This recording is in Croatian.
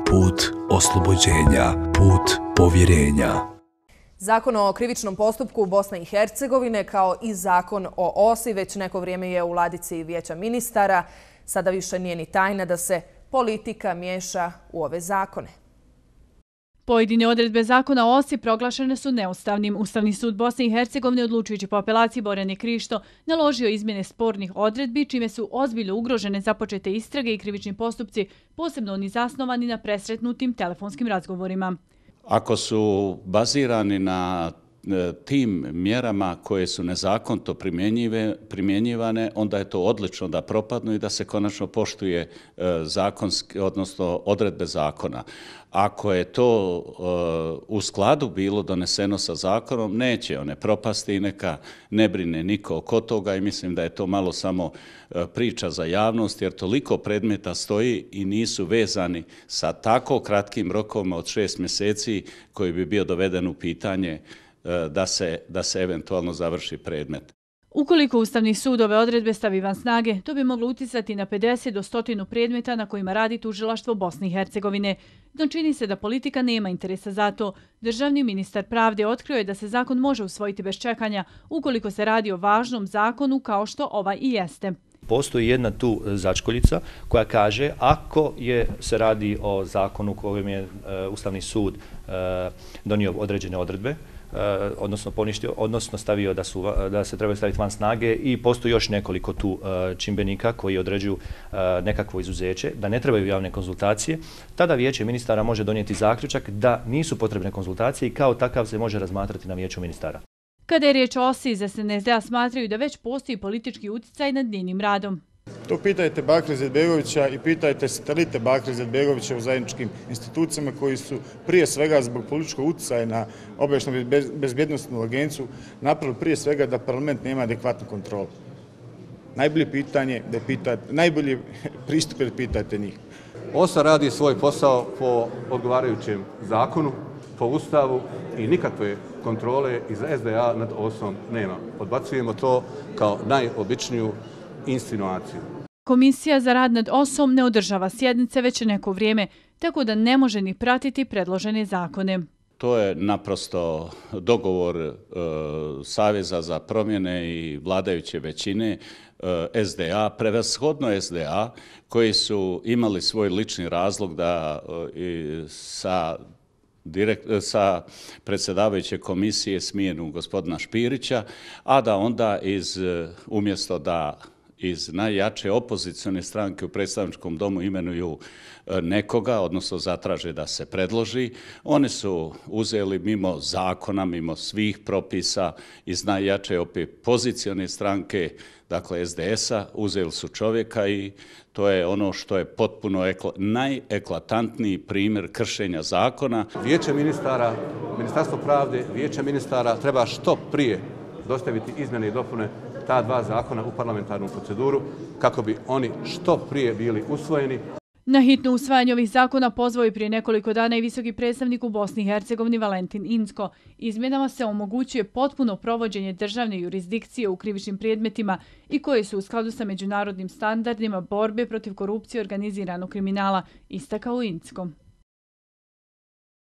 put oslobođenja, put povjerenja. Zakon o krivičnom postupku Bosne i Hercegovine kao i zakon o OSI već neko vrijeme je u ladici Vijeća ministara. Sada više nije ni tajna da se politika miješa u ove zakone. Pojedine odredbe zakona o OSI proglašene su neustavnim. Ustavni sud Bosne i Hercegovine, odlučujući po apelaciji Borjane Krišto, naložio izmjene spornih odredbi, čime su ozbiljno ugrožene započete istrage i krivični postupci, posebno oni zasnovani na presretnutim telefonskim razgovorima. Ako su bazirani na tim mjerama koje su nezakonito primjenjivane, onda je to odlično da propadnu i da se konačno poštuje zakonski, odnosno odredbe zakona. Ako je to u skladu bilo doneseno sa zakonom, neće one propasti i neka ne brine niko oko toga i mislim da je to malo samo priča za javnost, jer toliko predmeta stoji i nisu vezani sa tako kratkim rokovima od 6 mjeseci koji bi bio doveden u pitanje da se eventualno završi predmet. Ukoliko Ustavni sud ove odredbe stavi van snage, to bi moglo uticati na 50 do 100 predmeta na kojima radi tužilaštvo Bosne i Hercegovine. No čini se da politika nema interesa za to. Državni ministar pravde otkrio je da se zakon može usvojiti bez čekanja ukoliko se radi o važnom zakonu kao što ovaj i jeste. Postoji jedna tu začkoljica koja kaže ako se radi o zakonu kojem je Ustavni sud donio određene odredbe, odnosno poništio, odnosno stavio da se trebaju staviti van snage i postoji još nekoliko tu čimbenika koji određuju nekakvo izuzeće, da ne trebaju javne konzultacije, tada Vijeće ministara može donijeti zaključak da nisu potrebne konzultacije i kao takav se može razmatrati na Vijeću ministara. Kada je riječ o OSI, iz SNSD-a smatraju da već postoji politički utjecaj nad njenim radom. To pitajte Bakira Izetbegovića i pitajte satelite Bakira Izetbegovića u zajedničkim institucijama koji su prije svega zbog političkog utjecaja na obavještajnu bezbjednosnu agenciju napravili prije svega da parlament nema adekvatnu kontrolu. Najbolji pristup je da pitajte njih. OSA radi svoj posao po odgovarajućem zakonu, po Ustavu i nikakve kontrole iz SDA nad OSA-om nema. Odbacujemo to kao najobičniju insinuaciju. Komisija za rad nad OSA-om ne održava sjednice već neko vrijeme, tako da ne može ni pratiti predložene zakone. To je naprosto dogovor Saveza za promjene i vladajuće većine SDA, prevashodno SDA, koji su imali svoj lični razlog da sa predsjedavajuće komisije smijenu gospodina Špirića, a da onda umjesto da iz najjače opozicione stranke u predstavničkom domu imenuju nekoga, odnosno zatraže da se predloži, oni su uzeli mimo zakona, mimo svih propisa iz najjače opozicione stranke, dakle SDS-a, uzeli su čovjeka i to je ono što je potpuno najeklatantniji primjer kršenja zakona. Vijeće ministara, Ministarstvo pravde, Vijeće ministara treba što prije dostaviti izmjene i dopune ta dva zakona u parlamentarnu proceduru kako bi oni što prije bili usvojeni. Na hitno usvajanje ovih zakona pozvao je prije nekoliko dana i visoki predstavnik u Bosni i Hercegovini Valentin Incko. Izmjenama se omogućuje potpuno provođenje državne jurisdikcije u krivičnim predmetima i koje su u skladu sa međunarodnim standardima borbe protiv korupcije i organiziranog kriminala, istakao Incko.